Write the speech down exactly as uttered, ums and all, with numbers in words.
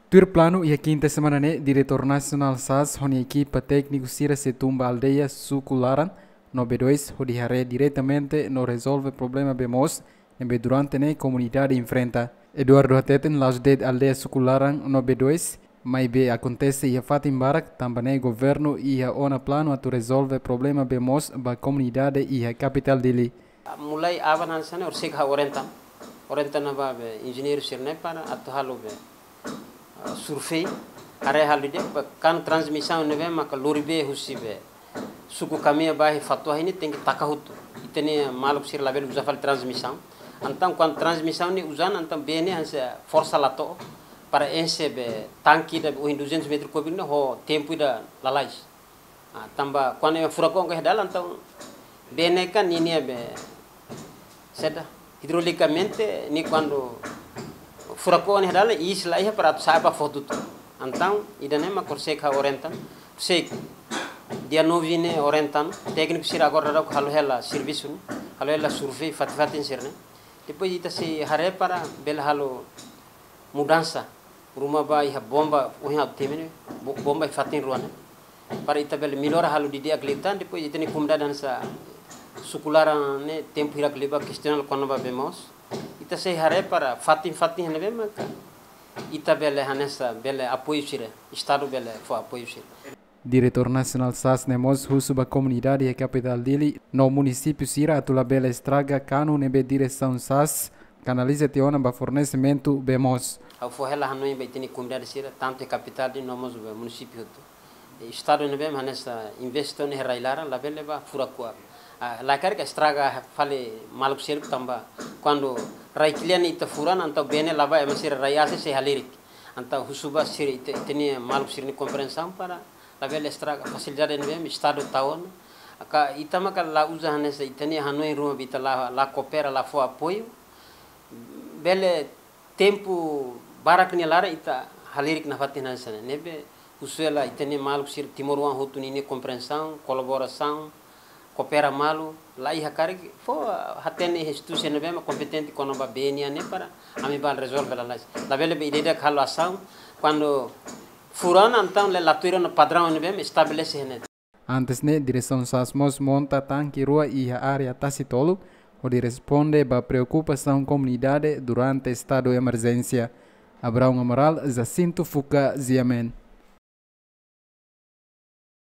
Tuir planu, iha kinta semana ne'e, Diretór Nasionál sas ho nia ekipa tékniku sira sei tun ba aldeia Suku Laran no B dois, hodi haree diretamente no rezolve problema bee moos ne'ebé durante ne'e komunidade enfrenta. Eduardo hateten la'ós de'it aldeia Suku Laran no B dois, maibé akontese iha fatin barak, tanba ne'e governu iha ona planu atu rezolve problema bee moos ba komunidade iha kapitál Dili. Mulai aban hanesan ne'e, horiseik ha'u orienta, orienta ona ba be enjeñeiru sira-ne'e para atu halo be, ah, survei, haree halo ida-ne'e, ba kanu transmisaun ne'ebé maka lori bee husi be suku Kamea ba iha Fatuahi ne'e tenke taka hotu. Ita-nia maluk sira labele uza fali transmisaun. Entaun kuandu transmisaun ne'e uza ona, entaun bee ne'e hanesan forsa la to'o para enxe be tanke ida be ohin duzentus metru kúbiku ne'e ho tempu ida lalais. Ah, tanba kuandu furak oan iha dalan, entaun bee ne'e kan ninia be saida, idrolikamente ne'e kuandu furak oan iha dalan, iis la iha para atu sa'e ba fó tutu. Entaun ida-ne'e mak horiseik ha'u orienta, horiseik dia nove ne'e orienta, tékniku sira agora daudauk halo hela servisu ne'e, halo hela survei fatin-fatin sira-ne'e. Depois ita sei haree para bele halo mudansa ruma ba iha bomba, ohin ha'u temi ne'e, bo-, bomba iha fatin rua ne'e. Para ita bele mellora halo didi'ak liután, depois ita-nia komunidade hanesan Suku Laran ne'e tempu hirak liubá kestiona kona-ba bee moos. Ita sei haree para fatin-fatin ne'ebé maka ita bele hanesan bele apoiu sira, Estadu bele fó apoiu sira. Diretór Nasionál sas ne'e mós husu ba komunidade iha kapitál Dili no munisípiu sira atu labele estraga kanu ne'ebé diresaun sas kanaliza tiha ona ba fornesimentu bee moos. Ha'u fó hela hanoin ba ita-nia komunidade sira, tantu iha kapitál Dili no mós ba munisípiu hotu. Estadu ne'ebé hanesan investe ona iha rai-laran, labele ba furak oan. Ah, la karik estraga fali maluk seluk tanba kuandu rai kle'an ita fura ona, entaun bee ne'e la ba, ema sira rai aas sei halerik. Entaun husu ba sira ita, ita-nia maluk sira-nia komprensaun para labele estraga fasilidade ne'ebé Estadu tau ona. Ka ita maka la uza hanesan ita-nia hanoin ruma be ita la, la koopera, la fó apoiu. Bele tempu barak nia laran ita halerik nafatin hanesan ne'e. Ne'ebé husu hela ita-nia maluk sira timoroan hotu ninia komprensaun, kolaborasaun, koopera malu, la iha karik, fó hatene instituisaun ne'ebé mak kompetente kona-ba bee nian ne'e para ami bá rezolve lalais. Labele be ida-idak halo asaun, kuandu fura ona entaun la, la tuir ona padraun ne'ebé estabelese ne'e. Antes ne'e, diresaun sas mós monta tanke rua iha área Tasi Tolu, hodi responde ba preokupasaun komunidade durante estadu emerjénsia. Abraão Amaral, Jacinto Fuca, G M N.